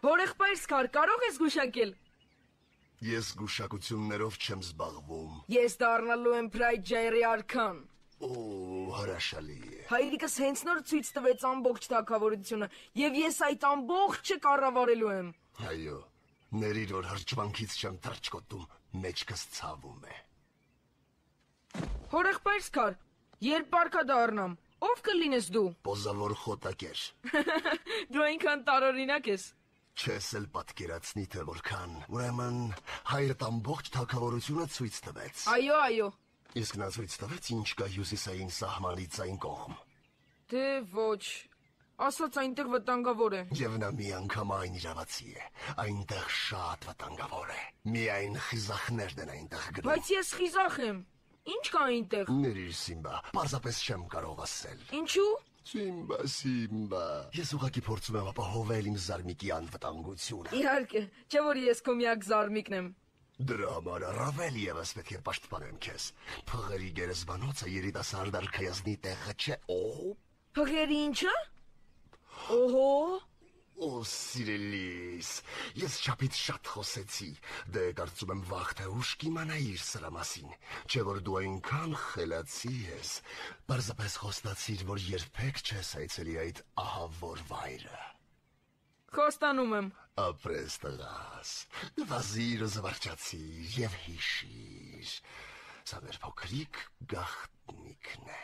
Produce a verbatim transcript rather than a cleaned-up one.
Հորեղբայրս կար, կարող ես գուշակել։ Ես գուշակություններով չեմ զբաղվում։ Ես դառնալու եմ Pride J-ի արքան։ Օ, հրաշալի է։ Հայրիկս հենց նոր ցույց տվեց ամբողջ թագավորությունը, եւ ես այդ ամբողջը կառավարելու եմ։ Այո, ներիր որ հրճվանքից չեմ թրջկոտում, մեջքս ցավում է։ Հորեղբայրս կար, երբ պարկա դառնամ, ով կլինես դու։ Պոզավոր խոտակեր։ Դու այնքան տարօրինակ ես։ Չես էլ պատկերացնի թե որքան։ Ուրեմն հայրդ ամբողջ թագավորությունը ցույց տվեց։ Այո, այո։ Իսկ նա ցույց տվեց ինչ կա հյուսիսային սահմանից այն կողմ։ Դե ոչ, ասած այնտեղ վտանգավոր է։ Եվ նա միանգամայն իրավացի է, այնտեղ շատ վտանգավոր է։ Միայն խիզախներն են այնտեղ գնում։ Բայց ես խիզախ եմ։ Ինչ կա այնտեղ։ Ներիր Սիմբա, պարզապես չեմ կարող ասել։ Ինչու։ Սիմբա, Սիմբա։ Ես ուղղակի փորձում եմ ապահովել իմ զարմիկի անվտանգությունը։ Իհարկե, չէ որ ես քո միակ զարմիկն եմ։ Դրա համար առավել ևս պետք է պաշտպանեմ քեզ։ Փղերի գերեզմանոցը երիտասարդ արքայազնի տեղը չէ։ Օ, Փղերի ինչը։ Օհո։ Օ, սիրելիս, ես չափից շատ խոսեցի։ Դե կարծում եմ վաղ թե ուշ կիմանայիր սրա մասին։ Չէ որ դու այնքան խելացի ես։ Պարզապես խոստացիր, որ երբեք չես այցելի այդ ահավոր վայրը։ Խոստանում եմ։ Ապրես տղաս, վազիր ու զվարճացիր և հիշիր, սա մեր փոքրիկ գաղտնիքն է։